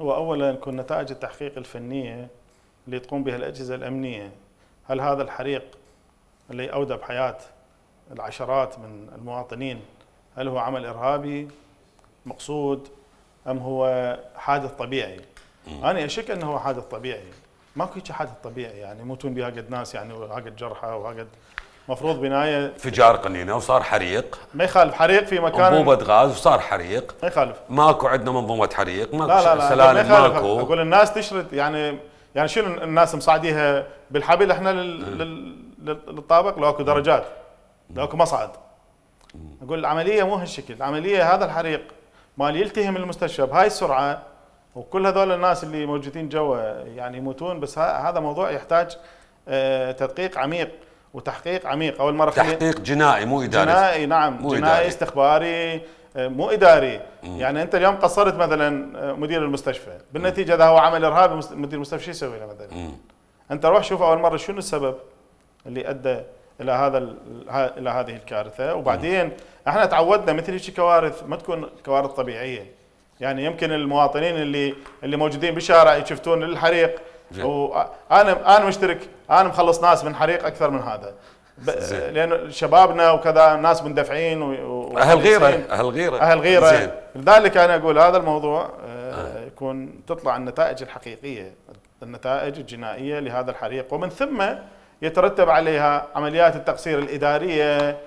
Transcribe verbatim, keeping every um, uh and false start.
هو اولا يكون نتائج التحقيق الفنيه اللي تقوم بها الاجهزه الامنيه، هل هذا الحريق اللي اودى بحياه العشرات من المواطنين هل هو عمل ارهابي مقصود ام هو حادث طبيعي؟ م. انا اشك انه هو حادث طبيعي، ماكو هيك حادث طبيعي يعني يموتون بها قد ناس يعني وهاقد جرحى وهاقد مفروض بنايه انفجار قنينه وصار حريق، ما يخالف حريق في مكان انبوبه غاز وصار حريق، ما يخالف ماكو عندنا منظومه حريق، ماكو لا لا لا سلالم ماكو. اقول الناس تشرد يعني يعني شنو الناس مصعديها بالحبل احنا لل... للطابق لو اكو درجات لو اكو مصعد. اقول العمليه مو هالشكل، العمليه هذا الحريق مال يلتهم المستشفى بهاي السرعه وكل هذول الناس اللي موجودين جوا يعني يموتون، بس هذا موضوع يحتاج آه تدقيق عميق وتحقيق عميق. اول مره تحقيق جنائي مو اداري. جنائي نعم، مو جنائي إداري. استخباري مو اداري. مم. يعني انت اليوم قصرت مثلا مدير المستشفى، بالنتيجه اذا هو عمل ارهابي مدير المستشفى شو يسوي له مثلا؟ مم. انت روح شوف اول مره شنو السبب اللي ادى الى هذا الى هذه الكارثه، وبعدين مم. احنا تعودنا مثل هيك كوارث ما تكون كوارث طبيعيه. يعني يمكن المواطنين اللي اللي موجودين بالشارع يشوفون الحريق وانا انا مشترك، انا مخلص ناس من حريق اكثر من هذا، لان شبابنا وكذا ناس مندفعين و اهل غيره اهل غيره اهل غيره. لذلك انا اقول هذا الموضوع آه يكون تطلع النتائج الحقيقيه، النتائج الجنائيه لهذا الحريق، ومن ثم يترتب عليها عمليات التقصير الاداريه